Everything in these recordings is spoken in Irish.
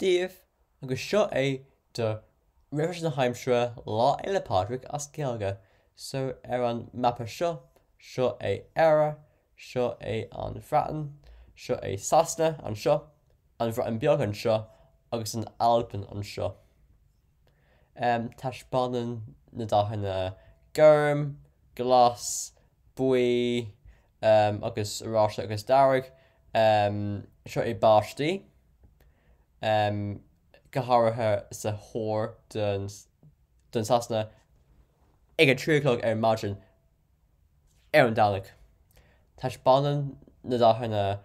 Daoibh, agus seo é do Réamhaisnéis na hAimsire Lá Fhéile Pádraig as Gaeilge. So ar an mapa seo, seo é Éire, seo é an Bhreatain, seo é Sasana anseo, an Bhreatain Beag anseo agus an Albain anseo. Taispeánann na dathanna gorm, glas, buí agus oráiste agus dearg. Seo é báistí, go háirithe sa thoir den Sasana ag a 3 a chlog ar maidin ar an Domhnach. Taispeánann na dathanna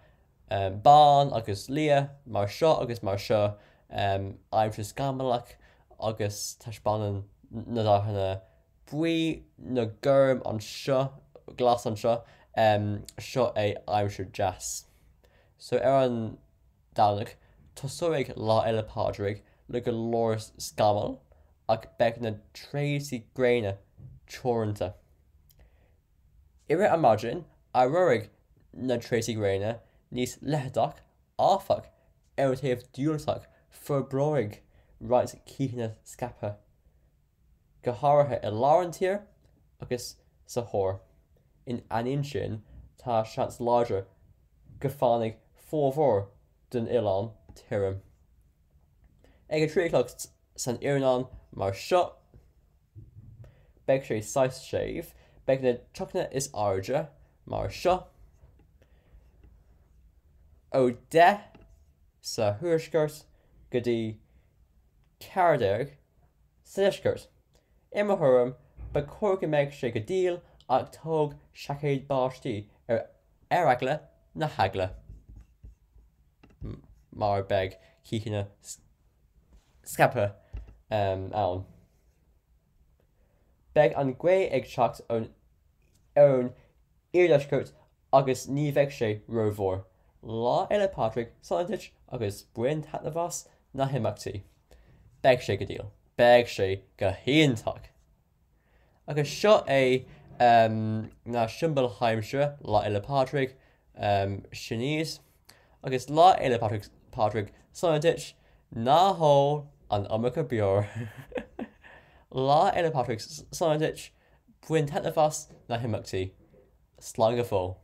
bán agus liath mar seo agus mar seo aimsir scamallach agus taispeánann na dathanna buí nó gorm anseo, glas anseo, seo é aimsir deas. So ar an Domhnach, tosóidh Lá Fhéile Pádraig le go leor scamall ach beidh na tréimhsí gréine teoranta. I rith an maidin, éireoidh na tréimhsí gréine níos leitheadach, áfach, ar an taobh diúltach forbróidh roinnt ceathanna scaipthe, go háirithe i lár an tír agus sa thoir. In ainneoin sin, tá seans láidir go bhfanfaidh formhór den oileán tirim. Ag a 3 a chlog san iarnóin mar seo, beidh sé saghas séimh, beidh na teochtanna is airde mar seo, ó 10 sa thuaisceart go dtí 14 sa deisceart. I mo thuairim, ba chóir go mbeadh sé go diail ach tóg seaicéad báistí ar ar eagla na heagla mar beidh ceathanna scaipthe ann. Beidh an ghaoth ag teacht ón ón iardheisceart agus ní bheidh sé rómhór. Lá Fhéile Pádraig sona duit agus bain taitneamh as na himeachtaí. Beidh sé go diail. Beidh sé go hiontach! Agus seo é na siombail aimsire Lá Fhéile Pádraig, sin iad. Agus Lá Fhéile Pádraig sona duit, ná hól an iomarca beoir. Lá Fhéile Pádraig sona duit, bain taitneamh as na himeachtaí. Slán go fóill.